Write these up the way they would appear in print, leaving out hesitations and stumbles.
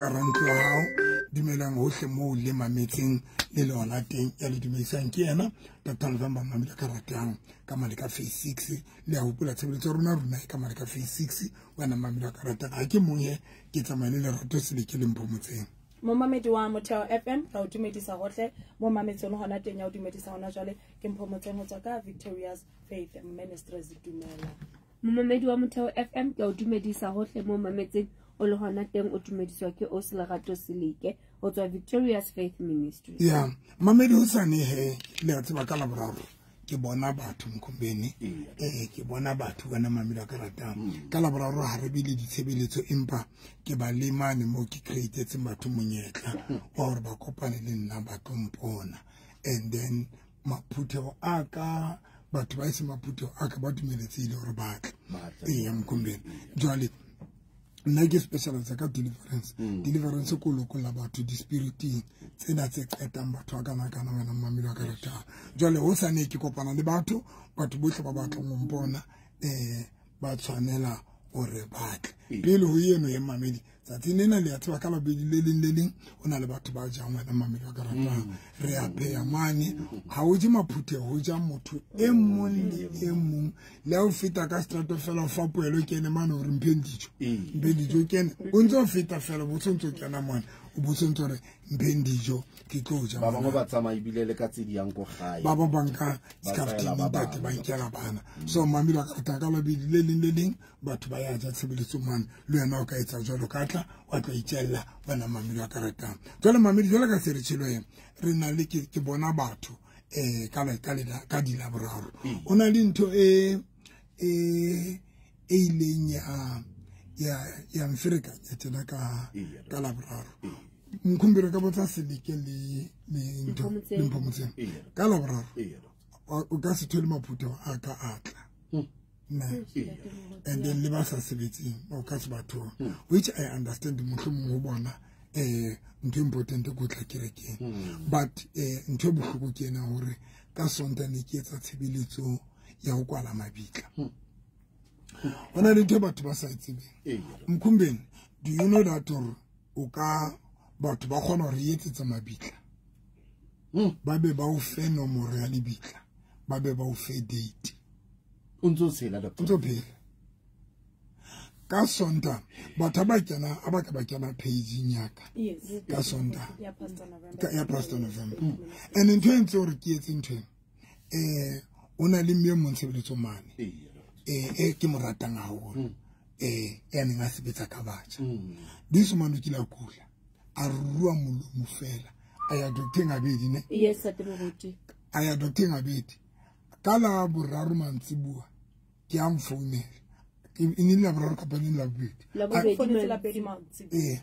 Rantlo hao dumelang hohle moo le mametseng le lona teng ya le dumedisang ke yena Dr. November Mamela ka ratang ka mane ka phase 6 le a hopola tshebeletso rona rona ka mane ka phase 6 wena Mamela ka ratang ha ke mong he ke tsamaye le Lerato Seleke le Mpho Motseng. Momamedi wa Motheo FM ra o dumedisa hohle mo mametseng hona teng ya o dumedisa hona jwale ke Mpho Motseng ho tswa ka Victorious Faith Ministries. Dumela momamedi wa Motheo FM, ke o dumedisa hohle mo mametseng o le hona teng, o dumediswa ke o Lerato Seleke ho tswa Victorious Faith Ministry. Ya mamedi hosane he le a tseba ka Laboraro ke bona batho Mkhombeni, ke bona batho bana Mamela ka ratang ka Laboraro ha re bile ditshebeletso empa ke ba le mane mo ke createtse batho monyetla wa hore ba kopane le nna ba tlo mpona, and then maphutheo a ka batho ba ise maphutheo a ka ba dumeletsehile hore ba tle. Eya Mkhombeni, jwale nna ke specialize ka deliverance. Deliverance ko lokolla batho di-spiriting tsena tse qetang batho ba kana-kana wena Mamela ka ratang. Jwale hosane ke kopana le batho, batho bohle ba batlang ho mpona ba tshwanela hore ba tle pele ho eno ye mamedi. Tsatsing lena le a tseba ka labobedi le leng le leng ho na le batho ba jang wena Mamela ka ratang. Re a pheha mane, ha o je maphutheho, ho ja motho e mong le e mong. Le ha o feta ka setrato fela o fa poelo kene mane hore mpheng dijo, mpheng dijo kene o ntse o feta fela bo tshwantse o kena mane o bo tshwantse hore mpheng dijo ke tlo ja. Ba bangwe ba tsamaya ebile le ka tse di yang ko gae, ba bang ba nka scaftini ntate ba nkela bana. So Mamela ka ratang ka labobedi le leng le leng batho ba ya ja tshebeletso mane, le wena o ka etsa jwalo ka tla wa tlo itjella wena Mamela ka ratang. Jwale mamedi jwale ka se re tshelo ena re na le ke bona batho ka di Laboraro. O na le ntho e e ileng ya mferekanya tjena ka Laboraro. Mkhumbire ka botsa Seleke le ntho le Mpho Motseng ka Laboraro o ka se thole maphutheo a ka atla. And then le ba sa sebetseng o ka se batho, which I understand mohlomong ho bona ntho important ko tla kerekeng, but ntho e bohloko ke ena hore ka Sontaha ne ke etsa tshebeletso ya ho kwala mabitla. Ho na le ntho batho ba sa e tsebeng. Mkhumbeni, do you know that o ka batho ba kgona hore etsetsa mabitla, ba be ba o fe nomoro ya lebitla, ba be ba o fe date? O ntso tshela doctor, o ntso phela. Ka Sontaha batho ba kena a ba ka ba kena page-ing ya ka ka Sontaha ya Pastor November, ya Pastor November. And ntho e ntse hore ke etse ntho o na le mme mong tshebeletso mane ke mo ratang haholo, ya neng a sebetsa ka batjha. This man o kile a kula, a rua molomo fela, a ya docteng abedi ne? Yes, ate. A ya docteng abedi. Ka la boraro mantsibuwa ke a mfounela. E ne le Laboraro kapa ne le Labobedi? Labobedi mantsibuwa.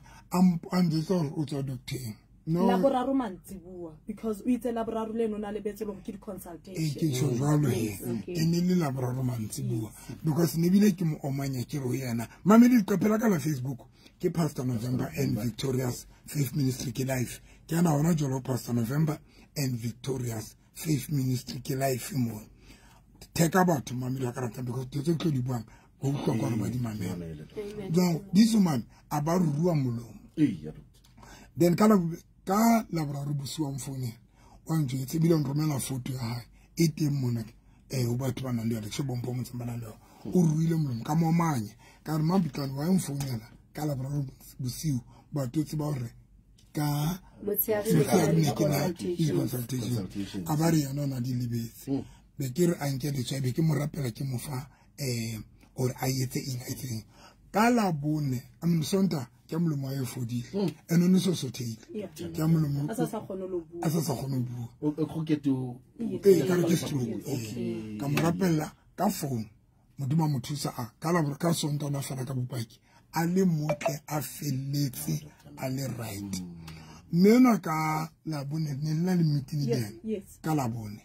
A njwetsa hore o tswa docteng. No, Laboraro mantsibuwa because o itse Laboraro le nona lebetse le ke di consultation. Ke tjho jwalo he. E ne le Laboraro mantsibuwa because ne bile ke mo omanya ke re ho yena. Mamedi leqephe la ka la Facebook ke Pastor November and Victorious Faith Ministry ke live. Ke ana hona jwalo Pastor November and Victorious Faith Ministry ke live mo. Theka batho Mamela ka ratang because tse tlo di buang ho utlwa hore ba di mamela. Jwang this man a ba rua molomo. Then ka Laboraro bosiu wa mfounela wa njwetse ebile o nromela photo ya hae e teng mona ho batho ba nang le yona tjhe bompho motseng ba nang le yona. O ruile molomo ka momanya ka re Mabitlane wa mfounela ka Laboraro bosiu batho tseba hore ka motshehare ne ke na di-consultation. A ba re yena o na di lebetse. Be ke re a nke letswai, be ke mo rapela ke mo fa hore a etse eng a etseng. Ka Labone, I mean Sontaha ke molomo wa e fodile. And o ne so sothehile. Ke molomo a sa kgone ho bua. A sa kgone ho bua. O kroketo. Ka re ke stroke. Ka mo rapella ka phone. Modimo a mo thusa a ka Laboraro ka Sontaha ona fela ka bopaki. A le motle a felletse a le right. Mme enwa ka Labone ne le na le meeting le yena. Ka Labone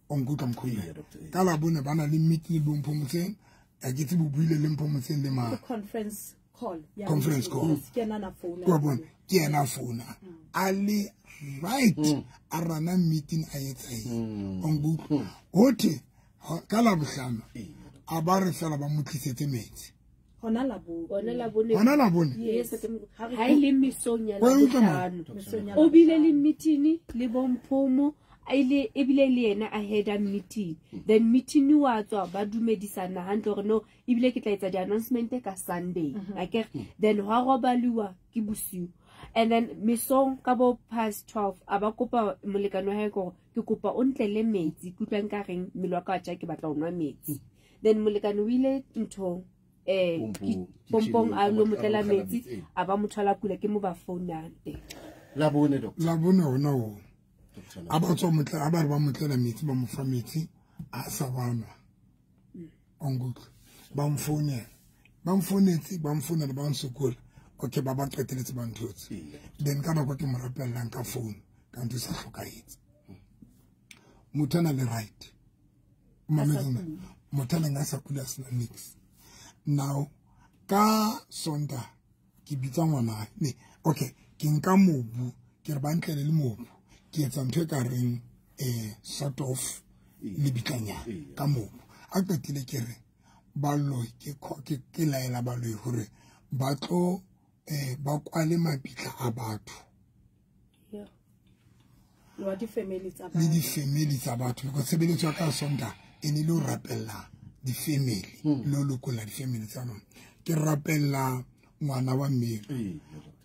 o nkutlwa Mkhumbe. Ka Labone ba na le meeting le bo Mpho Motseng. A ke tsebe o buile le Mpho Motseng le mang. Conference call. Conference call. Ke yena na founa. Wa bona, ke yena founa. A le right a rana meeting a etsa eng. O nkutlwa. Hothe ka Labohlano a ba re fela ba mo tlisetse metsi. Hona Labone. Hona Labone. Yes, ha ile mesong ya Labohlano. O bile le meeting le bomphomo ile ebile le yena a head meeting. Then meeting wa tswa ba dumedisana hantle hore no ebile ke tla etsa di announcement ka Sunday. Akere then hwa robaliwa ke bosiu. And then mesong ka bo past 12 aba kopa molekane wa hae gore ke kopa o ntlele metsi ke utlwa nka reng mmele wa ka wa tja ke batla ho nwa metsi. Then molekane o ile nthong pompong a lo motlela metsi a ba mothola kula ke mo ba founang teng. Labone doctor. Labone hona ho. A ba tswa motlela a ba re ba motlela metsi ba mo fa metsi a sa banwa. Ongutlwa ba mfounela. Ba mfounetse ba mfounela ba nsokola. Okay ba ba qeteletse ba nthotse. Then ka nako ke mo rapellang ka phone ka ntho sa hlokahetse. Motho ana le right. Mametsana. Motho ana nga sa kula sena nix. Now ka Sonta ke bitsa ngwana ne okay ke nka mobu ke re ba ntlele le mobu ke etsa ntho e ka reng sort of lebitlanya ka mobu a qetile ke re baloi ke laela baloi hore ba tlo ba kwale mabitla a batho le di family tsa batho le di family tsa batho because tshebeletso ya ka Sonta e ne le ho rapella di family lo lokola di family tsa rona ke rapella ngwana wa mme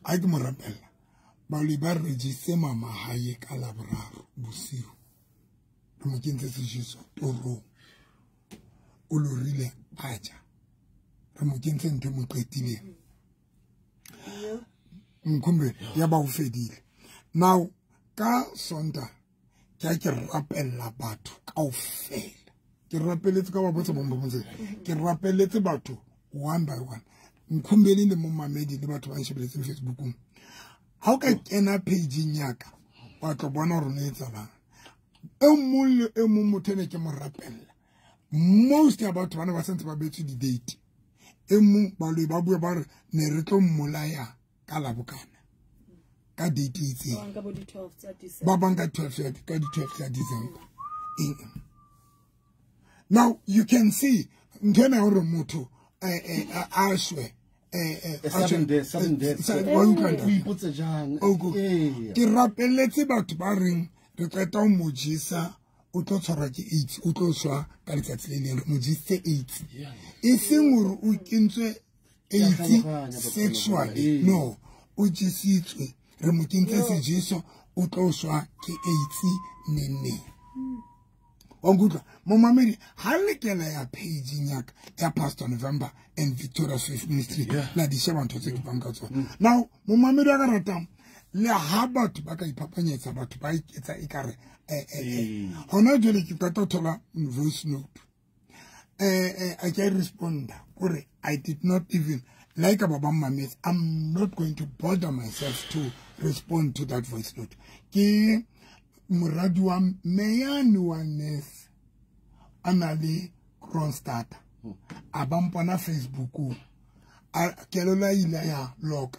a ke mo rapella baloi ba register mama hae ka Laboraro bosiu re mo kentse sejeso torong o lorile a ja re mo kentse ntho mo qetileng nkhumbe ya ba o fedile. Now ka Sonta ke rapella batho kaofela ke rapeletse ka ba botsa bombomotse ke rapeletse batho one by one nkhumbele le momamedi le batho ba nshebeletseng Facebookong ha o ka kena page-ing ya ka wa tlo bona hore no etsalang e mong le e mong motho ene ke mo rapella most ya batho bana ba sentse ba betswe di date e mong baloi ba bue ba re ne re tlo mmolaya ka Labokana ka date e itseng ba bang ka 12 ka di 12 tsa December. Now you can see ntho ena hore motho a shwe sudden death o ipotse jang ke rapeletse batho ba reng re qeta ho mo jesa o tlo tshwarwa ke AIDS o tlo shwa ka letsatsi le leng re mo jesitse AIDS e seng hore o kentswe AIDS sexually no o jesitswe re mo kentse sejeso o tlo shwa ke AIDS nene. Ongutlwa momamedi ha le kena ya page ya ya Pastor November and Victorious Faith Ministry la di sheba ntho tse ke bang ka tsona. Now momamedi a ka ratang le ha batho ba ka iphapanyetsa batho ba iketsa ekare hona jwale ke qeta ho thola voice note I can respond kore I did not even like ba mametse I'm not going to bother myself to respond to that voice note. Ke moradi wa meyane wa nurse a na le Kronstadt a ba mpona Facebookong a kelelo ile ya loka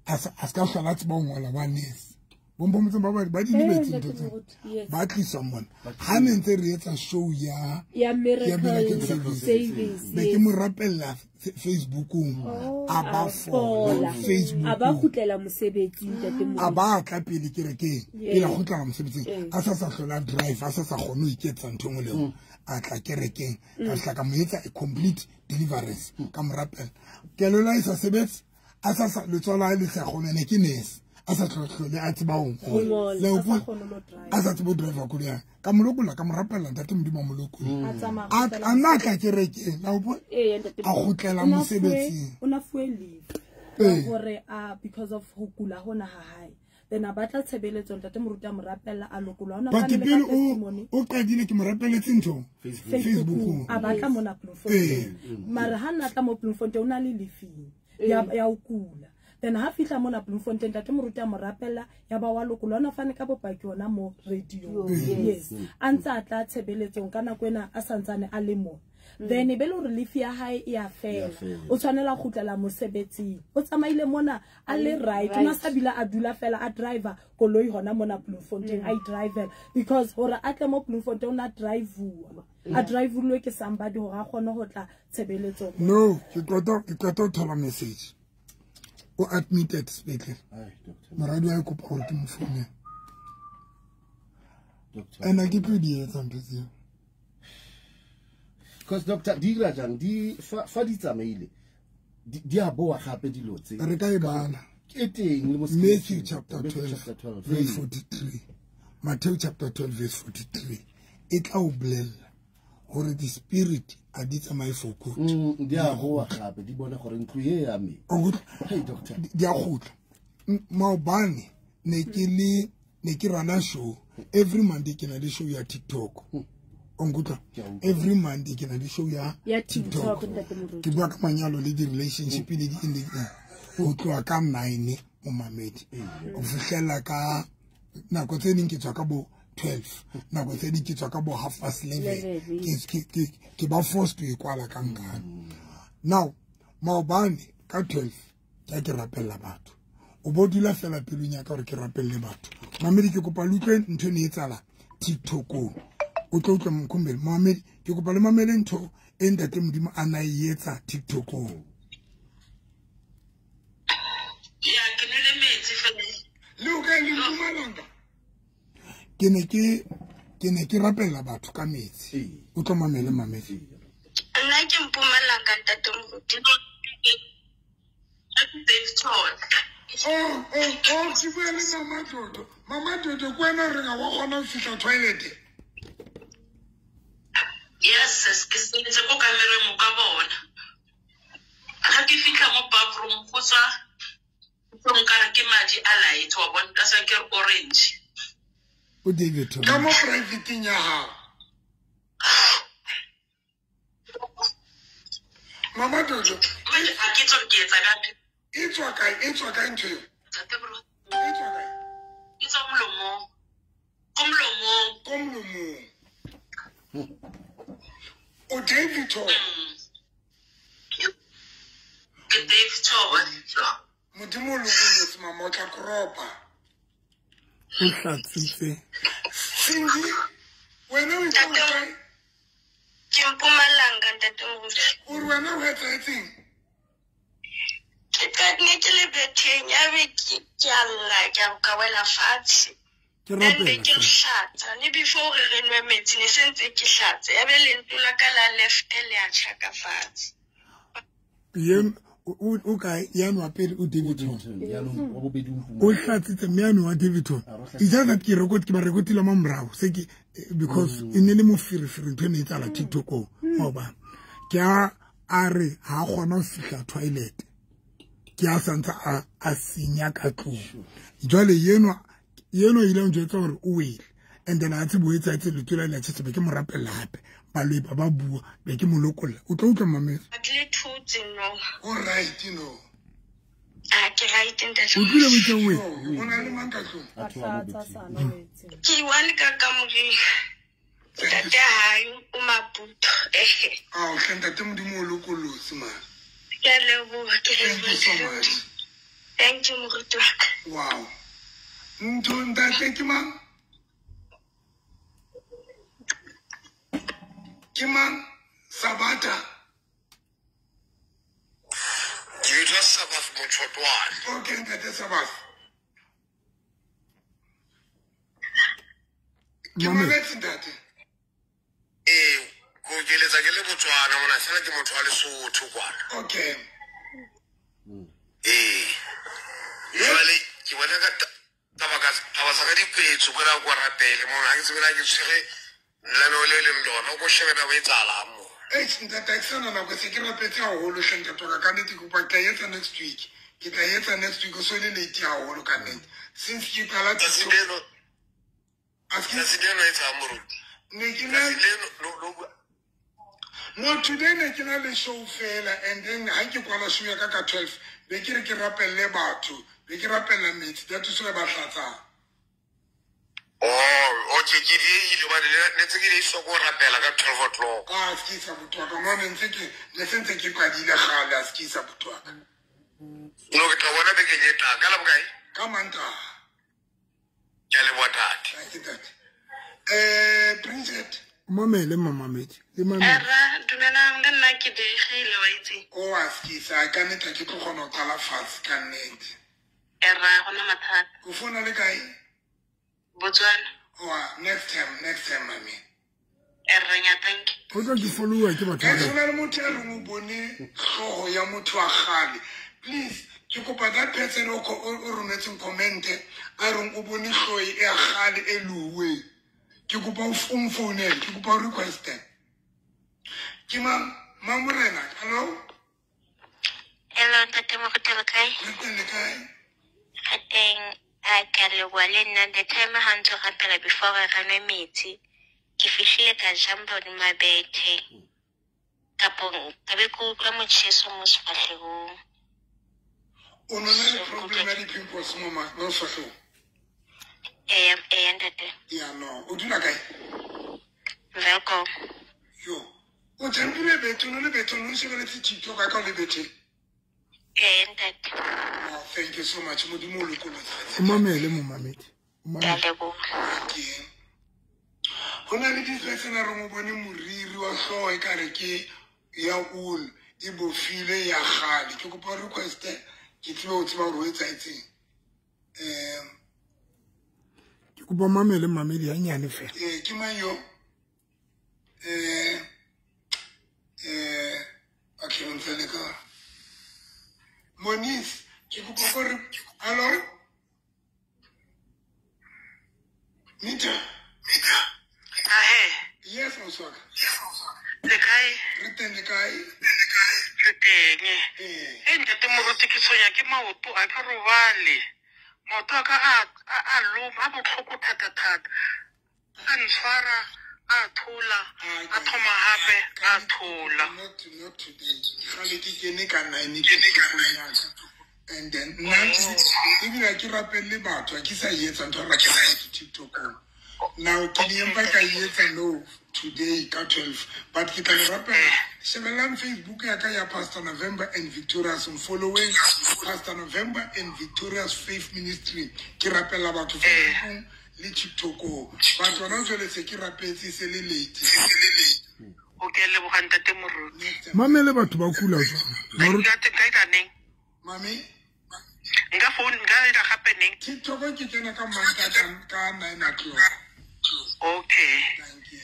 a ska hlola tseba ho ngola wa nurse bompomotse ba ba di lebetse ntho tseo ba tlisa mona ha ne ntse re etsa show ya Miracle Service be ke mo rapella Facebookong a ba fola Facebook a ba kgutlela mosebetsing ntate mo a ba tla pele kerekeng pele a kgutlela mosebetsing a sa hlola drive a sa kgone ho iketsa ntho engwe le engwe a tla kerekeng ka hla ka mo etsa a complete deliverance ka mo rapella kelelo e sa sebetse a sa letswalo le sa kgone ne ke nurse a sa tlhotlhole a tseba ho ngola a sa tsebo driver koloi ya ka molokola ka mo rapella ntate Modimo a molokola a nna tla kerekeng la o a kgutlela mosebetsing o na fuwe leave hore because of ho kula hona ha hae then a batla tshebeletso ntate moruti a mo rapella a lokolwa ona fa le ka testimony o qadile ke mo rapeletse ntho Facebook a batla mona Bloemfontein mara ha nna tla mo Bloemfontein o na le leave ya ho kula then ha fihla mona Bloemfontein ntate moruti a mo rapella ya ba wa lokolwa ona fane ka bopaki ona mo radio yes a ntse a tla tshebeletsong ka nako ena a santsane a le mo. Then e be le hore leave ya hae e a fela. O tshwanela go kgutlela mosebetsing. O tsamaile mona a le right. O na sa bile a dula fela a driver koloi hona mona Bloemfontein a driver because hore a tle mo Bloemfontein o na drive-uwa. A drive-ulwe ke somebody hore a kgone ho tla tshebeletsong. No, ke qeta ho thola message. O admitted sepetlele. Moradi wa kopa hore ke mo founele. Ena ke tlo di etsa ntho tseo. Because doctor di dira jang di fa di tsamaile di a boa gape dilo tse. Re ka e bala. Ke teng le mo Matthew chapter 12 verse 43. Matthew chapter 12 verse 43. E tla o bolella hore the spirit a di tsamaye for good. Di a boa gape di bona gore ntlo e ya me. Hey doctor. Di a gotla. Maobane ne ke rana show every Monday ke na le show ya TikTok. Ongutla every Monday ke na le show ya TikTok. Ke bua ka manyalo le di relationship le di eng go tloha ka 9 mo mamedi. O fihlela ka nako tse ding ke tswa ka bo 12, nako tse ding ke tswa ka bo 11:30. Ke ba forced to ikwala ka nkane. Now maobane ka 12 ke rapella batho. O bo dula fela pelong ya ka gore ke rapelle batho. Mamedi ke kopa le utlwe ntho e ne e tsala TikTokong. O tlo utlwa Mkhumbeni. Mamedi ke kopa le mamele ntho e ntate Modimo a na e etsa TikTokong. Ya ke nwele metsi fela. Le o kae le Mpumalanga? Ke ne ke rapella batho ka metsi. O tlo mamele mamedi. Nna ke Mpumalanga ntate Moruti. Oh, ke bua le Mama Dodo. Mama Dodo ke wena o reng ha wa kgona ho fihla toilet? Yes, ke sentse ko kamereng mo ka bona. Ha ke fihla mo bathroom go tswa nkare ke madi a light wa bona ka sa ke orange. O David ka mo private ya hao. Mama Dodo, a ke tswa ke etsa ka e tswa kae ntho eo? E tswa kae? E tswa molomong. Ko molomong. Ko molomong. O David Thor. Ke David Thor. Modimo o lokollotse mama o tla kropa. O hlatsitse. Cindy, wena o itse kae? Ke Mpumalanga ntate Moruti. O re wena o etsahetseng? Ke ne ke le betheng ya be ke a lla ke a ka wela fatshe. Ke rapela. Ke hlatsa le before re nwe metsi ne se ntse ke hlatsa ya be lentlo la ka la left le a tjha ka fatshe. Yem o kae ya nwa pele o Davidton. O hlatsitse mme ya nwa Davidton. It's just that ke record ke ba recordile mo morao se ke because e ne le moferefere ntho e ne e tsala TikTok maobane. Ke a re ha kgona ho fihla toilet. Ke a santse a senya ka tlung. Jwale yeno ile njwetsa hore o wele. And then a tsebo etsa tse letula le tshetse be ke mo rapella hape. Baloi ba bua be ke mo lokolla. O tlo utlwa mamedi. A ke le thutse no. O right no. A ke right ntate. O tlile botse we. O na le mang ka tlung? A tlatsa sana metsi. Ke one ka kamoreng. Ntate hae o Maputo. Ah, o hle ntate Modimo o lokollotse man. Ke a leboha, ke Thank you so much. Thank you moruti wa ka. Wow. Ntho ntate ke mang? Ke mang? Sabata. Ke bitswa Sabbath Motshotwane. Okay, ntate Sabbath. Ke mametse ntate. Ee, ko keletsa ke le Botswana mona fela ke motho wa Lesotho kwana. Okay. Ee. Jwale ke bona ka taba sa ka dipetso ko ra kwa rapele mona ha ke tsebe ke tshwere lenaneo le leng lona ko shebe na o etsahalang mo. Eish ntate ha ke sana nako se ke rapetse haholo hle ntate wa ka ka nnete ke kopa ke tla etsa next week. Ke tla etsa next week o so le late haholo ka nnete. Since ke qala Tsatsi leno etsang moruti. Ne ke na No, today ne ke na le show fela and then ha ke kwala show ya ka ka 12 be ke re ke rapelle batho, be ke rapella metsi, that is why ba hlatsang. Oh, okay, ke diehile hobane ne ntse ke le so go rapela ka 12 o'clock. A se ke sa botwa ka mo ne ntse ke ne sentse ke qadile kgale a se ke sa botwa ka. No ke tla bona bekeng e tlang ka la bokae? Ka Mantaha. Ke a leboha tate. Ke tate. Bridget. Mamele mamamedi le mamele. Erra, dumelang le nna ke diegile wa itse. O a skisa ka nnete ke tlo kgona ho qala fatshe ka nnete. Erra, gona mathata. O founa le kae? Botswana. Oa, next time mami. Erra, nya thank you. O tlo ke follow ke batho. Ke sona le motho a reng o bone hlooho ya motho wa kgale. Please, ke kopa that person o rometseng comment a reng o bone hlooho e kgale e luwe. Ke kopa o mfounele, ke kopa o requeste. Ke mang Mamorena, hello? Hello, ntate Moruti le kae? Re teng le kae? Re teng, a ke a leboha le nna the time ha ntse o rapela before re nwe metsi. Ke fihlile ka jumpa hodima bethe. Kapo ka be ke utlwa motjheso mo sefahlehong. O no na le problem ya di-pimples mo sefahlehong? Eya ntate. Ya no, o dula kae? Welkom. Yo, o jumpile bethe, o no le bethe, o no shebeletse TikTok ka o le betheng. Eya ntate. Oh, thank you so much. Modimo o lokolotse. O mamele momamedi. Ke a leboha. Ke. Ho na le di-person a reng o bone moriri wa hlooho ekare ke ya wool e bofile ya kgale. Ke kopa request ke tsebe ho tseba hore ho etsahetseng. Ke kopa mamele mamedi hanyane fela. Ke mang yo? Okay, o ntse le ka. Moniz, ke kopa hore hello? Nita. Ahe. Yes, Oswaka. Le kae? Re teng le kae? Re teng. Eh, ntate Moruti ke tshwenya ke maoto a ka robale. Maoto a ka a loma, a botlhoko thata-thata. A ntshwara, a thola, a thoma hape, a thola. Not today. Kgale ke kene ka 9 ke and then nna ebile ha ke rapelle batho, ha ke sa etsa ntho ya rapela batho TikTok-ong. Now ke di empa ka etsa no today ka 12, but ke tla le rapela. Shebellang Facebook ya ka ya Pastor November and Victorious, I'm following Pastor November and Victorious Faith Ministry. Ke rapela batho Facebook le TikTok-ong. Batho hona jwale se ke rapetse se le late. O ke leboha ntate Moruti. Mamele batho ba kula jwang? Moruti nka ita neng? Mami? Nka phone nka ita gape neng? TikTok ke kena ka Mantaha ka 9 o'clock. Okay. Thank you.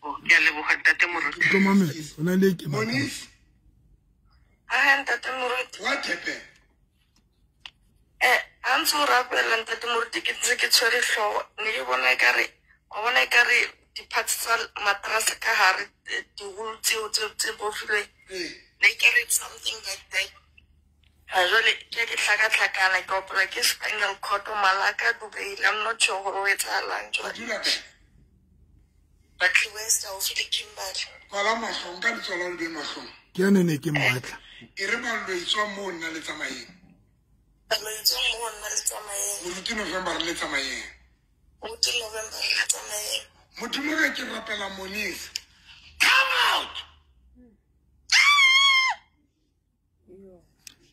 Oh, ke a leboha ntate Moruti. Tlo mamela, o na le ke Moniz? Ah, ntate Moruti. What happened? Ha ntse o rapela ntate Moruti ke ntse ke tshwere hlooho. Ne ke bona ekare, wa bona ekare di-parts tsa mattress ka hare, di-wool tseo tse bofilweng. Ne ke re something like that. Ha jwale ke ke hlakahlakana ke opelwa ke spinal cord malaka dubeile. I'm not sure hore ho etsahalang jwale. O dula kae? Barkly West haufi le Kimberley. Kwala mahlong ka letsoho le be mahlong. Ke yane ne ke mmatla. E re ba lo etswa moo nna le tsamayeng. Lo etswa moo nna le tsamayeng. Moruti November re le tsamayeng. Moruti November re le tsamayeng. Modimo ge ke rapela Moniz. Come out!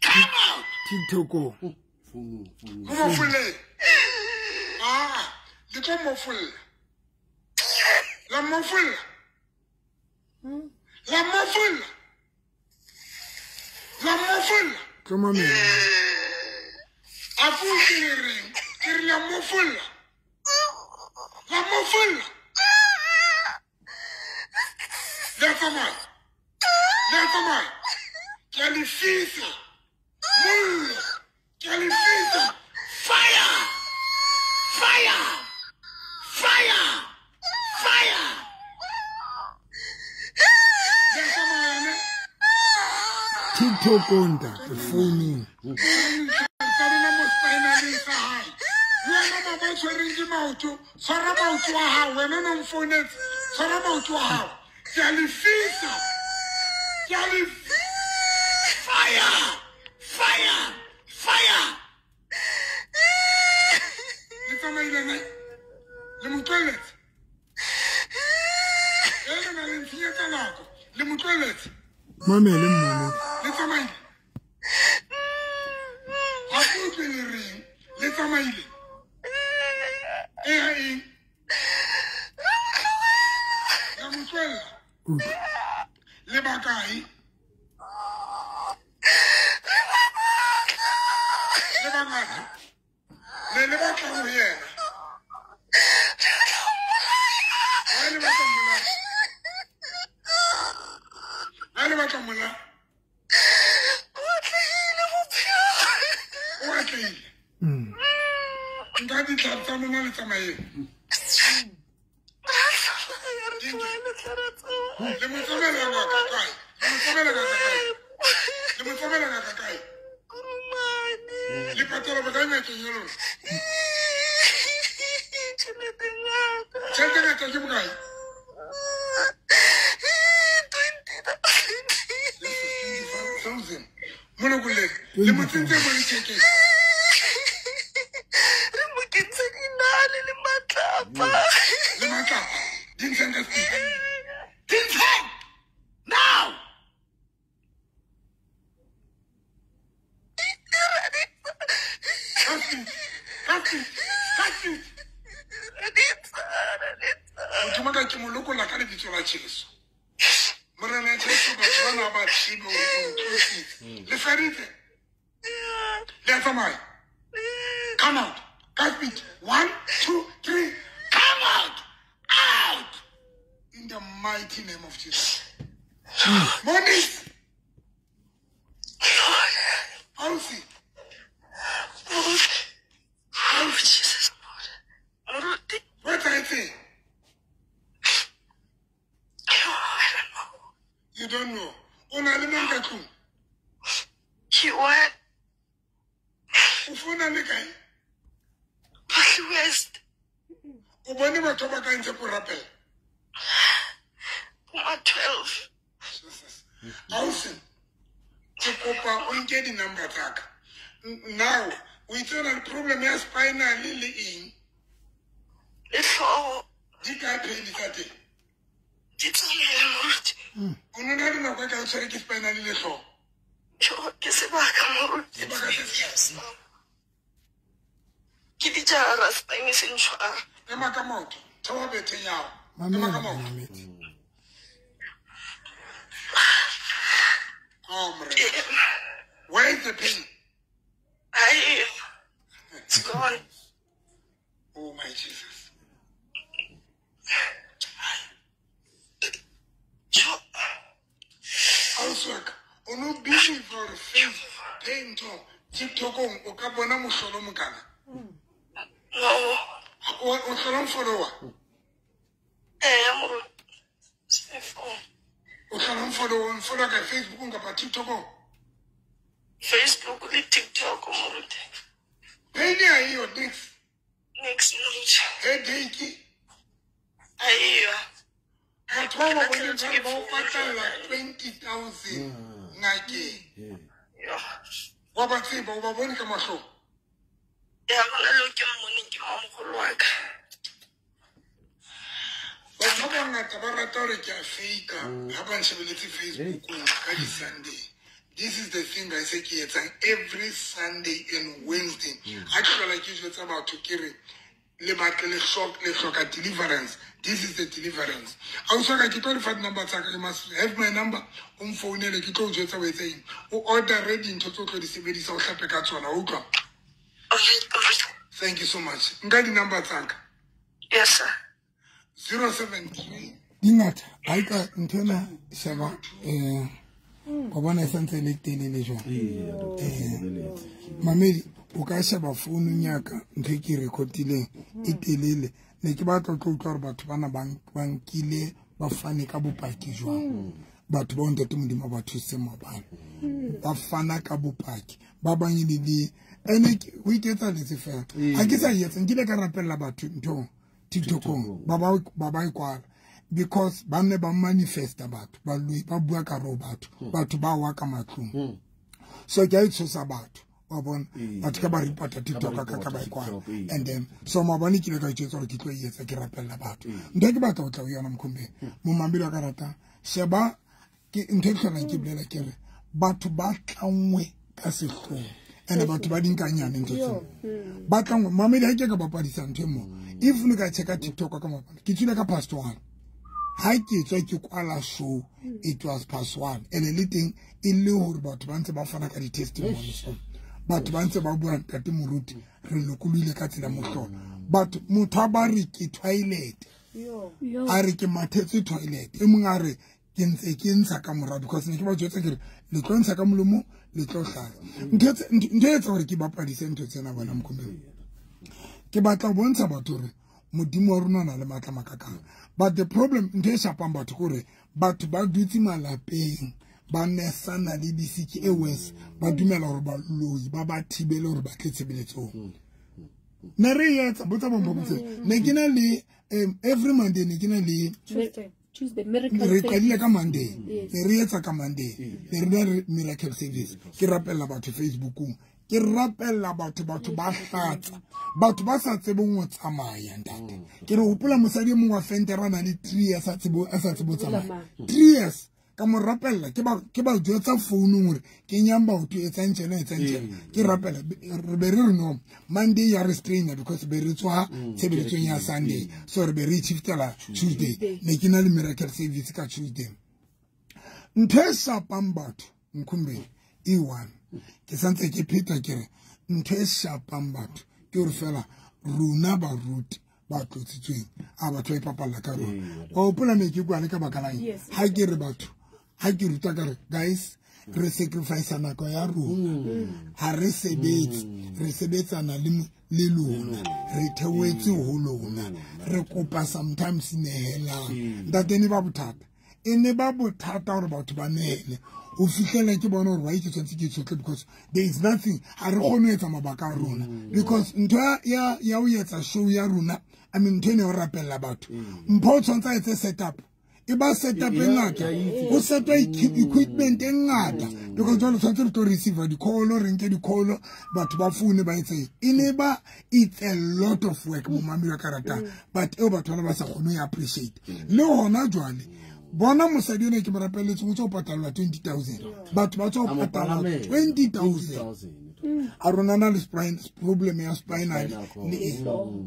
Come out! TikTok-ong. Mo mofolle. Ah, le tlo mofolla. La mofolla. La mofolla. La mofolla. Tlo mamela. A ke le reng? Ke re la mofolla. La mofolla. Le tsamaya. Le tsamaya. Ke a le fisa. Mollo. Ke a le fisa. Fire! Fire! Fire! Fire! Le tsamaya ne? TikTok-ong ntate, founung. Tsa lona mo spinaleng sa hae. Wena mama o tshwereng ke maoto, tshwara maoto a hao. Wena o no mfounetse, tshwara maoto a hao. Ke a le fisa. Ke a le fire! Fire! Fire! Le tsamaile ne? Le mo tlohelletse. E re na le ntshenyetsa nako. Le mo tlohelletse. Mamele mmamedi. Le tsamaile. Ha ke utlwe le reng. Le tsamaile. E ya eng? La mo tlohella. Le bakae? Le bangata. Le le batla ho yena. Ha le batla mola. Ha le batla mola. O atlehile bophelo. O atlehile. Nka ditlhare tsa lona le tsamayeng. Le mo tsamaela ngaka kae? Le mo tsamaela ngaka kae? Le mo tsamaela ngaka kae? Le patala bokae ngakeng ya lona? Tjhelete ngata. Tjhelete ngata ke bokae? 20,000. 25,000. Molokolleng. Le mo tsentse mo lethekeng. Re mo kentse dinale le matlapa. Le matlapa. Di ntsheng ka speed. Di ntsheng! Now! Ka speed. Ka speed. Ka speed. Motho wa ka ke mo lokolla ka lebitso la Jesu. Morena Jesu batho bana ba tsebe hore o ntlositse. Le feditse? Le a tsamaya? Come out. Ka speed. 1, 2, 3. Come out. Out. In the mighty name of Jesus. Monies. Ausi. Oh, Jesus, Lord. Moruti. What I say? I don't know. You don't know. O na le mang ka tlung? Ke what? O founa le kae? Park West. O bone batho ba ka ntse ko rapela? Ma 12. Jesus. Ausi, ke kopa o nke di-number tsa ka. Now, o itse o na le problem ya spinal le eng? Le hlooho. Di kae pain tsa teng? Di tsamaile moruti. O no na le nako e ka o tshwere ke spinal le hlooho? Jo, ke sebaka moruti. Sebaka se se kae? Ke dijara spine se ntshwara. Ema ka maoto. Theoha betheng ya hao. Ema ka maoto. Oh, Morena. Where is the pain? It's gone. Oh my Jesus. Ausi wa ka, o no believe hore face pain to TikTokong o ka bona mohlolo o mokana? No. O hlola follower? Eh, moruti. O hlola follower, follow ka Facebookong kapa TikTokong? Facebook le TikTok moruti. Pain ya eyo nix. Nix moruti. Headache. Aiyo. Batho ba ba boneng ba o patalla 20,000 ngakeng. Wa ba tseba, o ba bone ka mahlong? Ya, hona le ke mmoneng ke mamogolo wa ka. Batho ba bangata ba rata hore ke a fake-a ha ba nshebeletse Facebookong ka di-Sunday. This is the thing I say ke etsang every Sunday and Wednesday. Ha ke hlola ke jwetsa batho ke re le batle le hloka deliverance. This is the deliverance. Ausi wa ka ke tlo le fa di-number tsa ka. You must have my number. O mfounele ke tlo o jwetsa o etse eng. O order-e dintho tse o tlo di sebedisa o hlape ka tsona, o utlwa? Thank you so much. Nka di-number tsa ka. Yes, sir. 073. Di ngata. Ha e ka ntho ena sheba wa bona e santse e le telele jwang. Mamedi, o ka sheba founung ya ka ntho e ke e record-ileng e telele. Ne ke batla ho tlo utlwa hore batho bana ba nkile ba fane ka bopaki jwang. Batho bao ntate Modimo a ba thusitse maobane. Ba fana ka bopaki. Ba bang e le ene ho iketsahalletse fela. Ha ke sa e etsa, nkile ka rapella batho nthong TikTokong ba ba e kwala. Because ba ne ba manifesta batho ba bua ka ro batho batho ba wa ka matlung. So ke a itshosa batho. Wa bona batho ka ba reporta TikTok ka ba kwa and then so maobane ke ile ka itjwetsa hore ke tlo e etsa ke rapella batho. Ntho e ke batla ho tla ho yona Mkhombeni momamedi wa ka ratang sheba ke ntho e hlolang ke bolela ke re batho ba tlangwe ka sehloho and batho ba dinkanyane ntho tseo ba tlangwe mamedi ha ke ka bapadisa ntho e mo if le ka checka TikTok ka mapana ke tswile ka past 1 ha ke tswa ke kwala show it was past 1 and le teng e le hore batho ba ntse ba fana ka di-testimonies batho ba ntse ba bua ntate moruti re lokolohile ka tsela mohlolo batho motho a ba re ke toilet a re ke mathetse toilet e mong a re ke ntse ke ntsha ka morao because ne ke ba jwetsa ke re le tlo ntsha ka molomo le tlo hlaza ntho e etsa hore ke bapadise ntho tsena bona Mkhombeni ke batla ho bontsha batho hore modimo wa rona o na le matla makakang but the problem ntho e shapang batho ke hore batho ba dutse malapeng ba nesana le disiki e worse ba dumela hore baloi ba ba thibele hore ba tle tshebeletsong ne re etsa botsa bompho ne ke na le every Monday ne ke na le Tuesday miracle re qadile ka Monday ne re etsa ka Monday ne re na le miracle service ke rapella batho Facebookong ke rapella batho batho ba hlatsa batho ba sa tsebeng ho tsamaya ntate ke re hopola mosadi e mongwe wa fentera a na le 3 years a tsebo tsamaya 3 years ka mo rapella ke ba jwetsa founung hore kenyang batho etsang tjena etsang tjena ke rapela re be re re no Monday ya restrainer because be re tswa tshebeletsong ya Sunday so re be re shiftela Tuesday ne ke na le miracle service ka Tuesday ntho e shapang batho Mkhombeni e one ke santse ke pheta ke re ntho e shapang batho ke hore fela rona baruti ba tlotsitsweng a batho ba ipapalla ka rona wa hopola ne ke bua le ka baka la eng ha ke re batho ha ke ruta ka re guys re sacrifice nako ya rona ha re sebetse re sebetsana le lona re theoetse ho lona re kopa sometimes nehelang ntate ne ba bothata e ne ba bothata hore batho ba nehele o fihlele ke bona hore why ke tshwanetse ke tshotle because there is nothing ha re kgone ho etsa mabaka a rona because ntho ya ho etsa show ya rona I mean ntho ene ho rapella batho mpho o tshwanetse a etse setup e ba setup e ngata ho setwa equipment e ngata because jwale tshwanetse re tlo receive di-call re nke di-call batho ba foune ba etse e ne ba it's a lot of work momamedi wa ka ratang but eo batho bana ba sa kgone ho appreciate le hona jwale bona mosadi ena ke mo rapelletseng o tswa ho patallwa 20,000 batho ba tswa ho patallwa 20,000 a rona na le problem ya spinal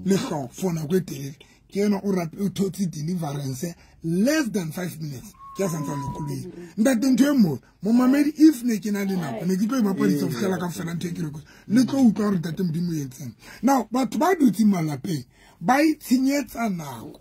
le hlooho for nako e telele ke ena o thotse deliverance less than 5 minutes ke a santsa lokolohile ntate ntho e mo momamedi if ne ke na le nako ne ke tlo e bapadisa ho fihlela ka fela ntho e ke re le tlo utlwa hore ntate modimo o entseng now batho ba dutseng malapeng ba itshenyetsa nako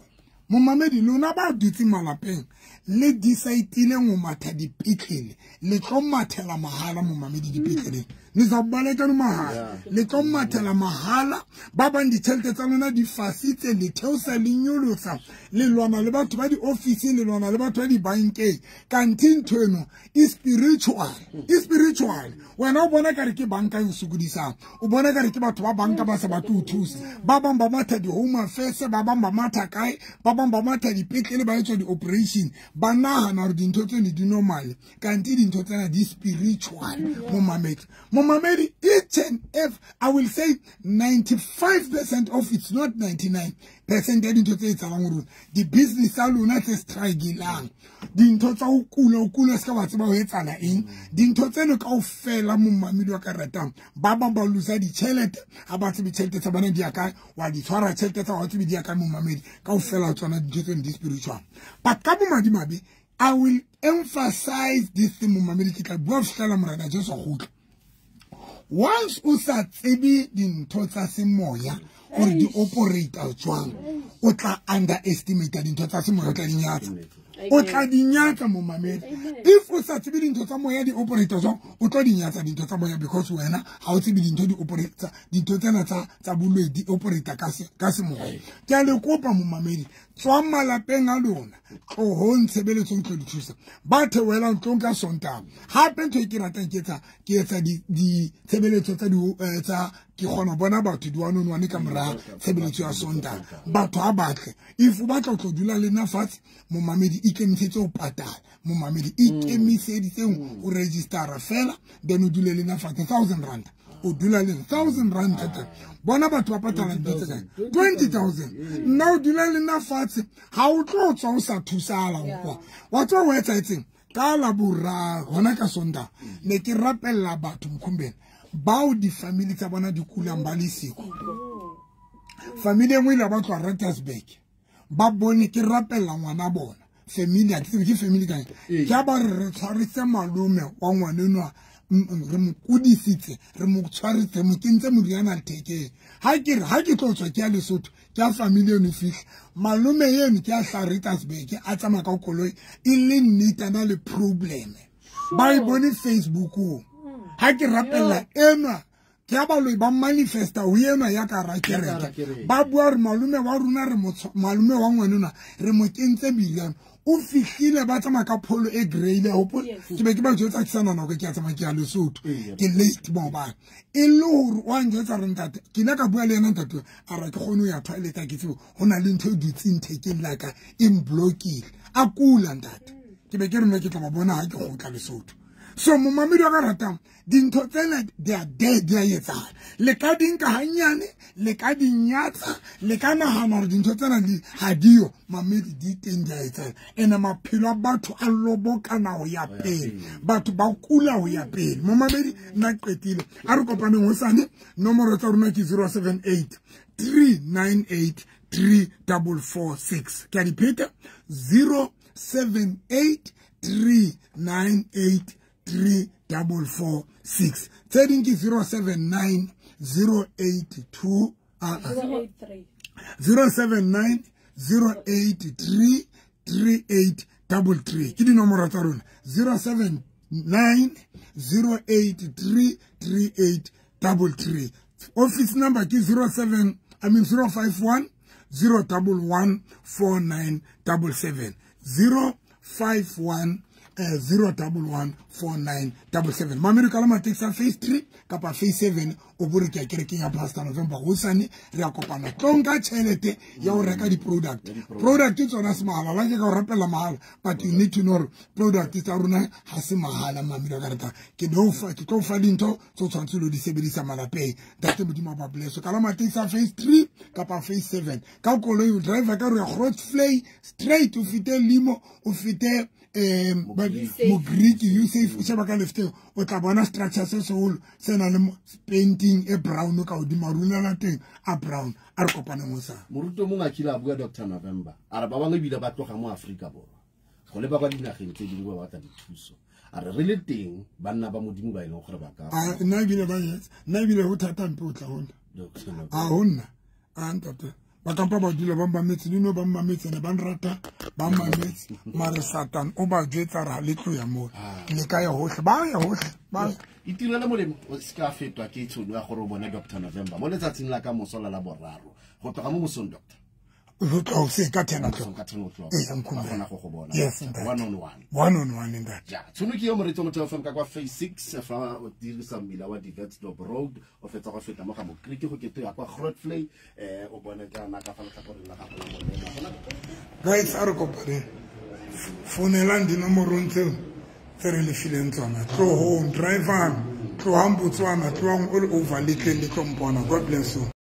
momamedi lona ba dutseng malapeng le decide-ileng ho matha dipetlele le tlo mathela mahala momamedi dipetleleng le sa baleka no mahala le tlo mathela mahala ba bang ditjhelete tsa lona di fasitse le theosa le nyolosa le lwana le batho ba di-office le lwana le batho ba dibankeng kanthe ntho eno e spiritual e spiritual wena o bona kare ke banka e o sokodisang o bona kare ke batho ba banka ba sa batle ho thusa ba bang ba matha di-home affairs ba bang ba matha kae ba bang ba matha dipetlele ba etswa di-operation ba nahana hore dintho tseno di normal kanthe dintho tsena di spiritual momamedi momamedi each and every I will say 95% of it's not 99% ya dintho tse etsahalang ho rona di-business tsa lona tse struggle-ang dintho tsa ho kula se ka wa tseba ho etsahala eng dintho tseno kaofela momamedi wa ka ratang ba bang ba losa ditjhelete ha ba tsebe tjhelete tsa bona di ya kae wa di tshwara tjhelete tsa ha tsebe di ya kae momamedi kaofela tsona dintho tseno di spiritual but ka bomadimabe I will emphasize this thing momamedi ke tla bua ho fihlela morena Jesu a kgutla once o sa tsebe dintho tsa semoya hore di operate jwang o tla underestimate dintho tsa semoya o tla di nyatsa o tla di nyatsa momamedi if o sa tsebe dintho tsa moya di operate jwang o tlo di nyatsa dintho tsa moya because wena ha o tsebe dintho di operate dintho tsena tsa boloi di operate ka semoya ke a le kopa momamedi tswang malapeng a lona tlohong tshebeletsong tlo di thusa ba theohelang tlong ka Sontaha hape ntho e ke ratang ke etsa ditshebeletso tsa ke kgona ho bona batho di one on one ka mora tshebeletso ya Sontaha batho ha batle if o batla ho tlo dula le nna fatshe momamedi ikemisetse ho patala momamedi ikemiseditseng ho registera fela then o dule le nna fatshe 1,000 rand O dula le 1000 rand thata. Bona batho ba patala ntho tse kae? 20,000. Nna o dula le nna fatshe, ha o tlo tswa o sa thusala kwa. Wa tswa o etsaetseng ka la boraro hona ka Sontaha ne ke rapella batho Mkhumbeni bao di-family tsa bona di kulang ba le siko. Family e nngwe ile ba tloha Rustenburg, ba bone ke rapella ngwana bona. Family ha ke tsebe ke family kae. Ke a ba re tshwaritse malome wa ngwanenwa, re mo kudisitse, re mo tshwaritse, mo kentse moriana thekeng. Ha ke re ha ke tlo tswa ke ya Lesotho, ke ya family eno fihla. Malome eno ke ya hla Rustenburg, a tsamaya ka koloi e le nnete a na le problem. Ba e bone Facebookong. Ha ke rapella enwa, ke a baloi ba manifesta ho enwa ya ka hara kereke. Ba bua hore malome wa rona re malome wa ngwanenwa re mo kentse meriana. O fihlile ba tsamaya ka pholo e grey le hopola. Ke be ke ba jwetsa ke sa nahana hore ke a tsamaya ke ya Lesotho. Ke late maobane. E le hore wa njwetsa re ntate, ke ile ka bua le yena ntate, a re ke kgone ho ya toilet ha ke tsebe ho na le ntho e dutseng thekeng la ka e mblokile. A kula ntate. Ke be ke re nna ke tla ba bona ha ke kgutla Lesotho. So momamedi wa ka ratang, dintho tsena di a dead, di a etsahala. Le ka di nka hanyane, le ka di nyatsa, le ka nahana hore dintho tsena di ha diyo, mamedi di teng di a etsahala. Ene maphelo a batho a lobokana ho ya pele. Batho ba kula ho ya pele. Momamedi nna qetile. A re kopaneng hosane, nomoro tsa rona ke 078 398 3446. Ke a di pheta, 078 398 3446. Tse ding ke 079 082 079 083 3833. Ke dinomoro tsa rona, 079 083 3833. Office number ke 051 011 4977. 051 011 4977. Mamedi ka la matekisi a phase 3 kapa phase 7 o bore ke ya kerekeng ya Pastor November hosane re a kopana. Tlo nka tjhelete ya ho reka di-product. Product tsona se mahala, la ke ka o rapella mahala, but you need to know hore product tsa rona ha se mahala. Mamedi ka rata ke tlo fa dintho tse o tshwanetse lo di sebedisa malapeng. Ntate Modimo a ba bless. Ka la matekisi a phase 3 kapa phase 7 ka koloi o driver ka re ya Grootvlei straight, o fete limo, o fete Mogriki, you safe, o sheba ka lefteng o tla bona structure se seholo se nang le painting e brown ka hodimo, runa la teng a brown. A re kopaneng hosane. Moruti o mongwe a kile a bua Dr. November, a re ba bangwe ebile ba tloga mo Afrika Borwa go leba kwa dinageng tse dingwe ba batla dithuso. A re re le teng banna ba Modimo ba e leng gore ba ka. Nna ebile ba etsa, nna ebile ho thata mpe o tla ho nna. A ho nna, a ntate. Ba kampa ba dula ba mmametse, le no ba mmametse, ne ba nrata, ba mmametse. Mare Satan o ba jwetsa re ha le tlo ya moo. Le ka ya hohle, ba ya hohle, ba itirele molemo, o se ka fetwa ke tshono ya gore o bone Dr. November mo letsatsing la ka moso la Laboraro go tloga mo mosong. Doctor go tloga hoseng ka 10 o'clock. Ka 10 o'clock. Ee, Mkhumbe. Ba kgona go go bona. Yes, ntate. One on one. One on one, ntate. Ja, tshono ke yo moreetsi wa Motheo FM ka kwa phase 6 fa o dirisa mmila wa Divertsdorp Road, o fetsa go feta mo ga Mokriki go kete ya kwa Grootvlei, o bone jaana ka fa letlhakoreng la gago la molema. Gona Guys, a re kopaneng. Fonelang dinomorong tseo tse re le fileng tsona. Tlohong, drivang, tlohang Botswana, tlohang all over, le tleng le tlo mpona. God bless you.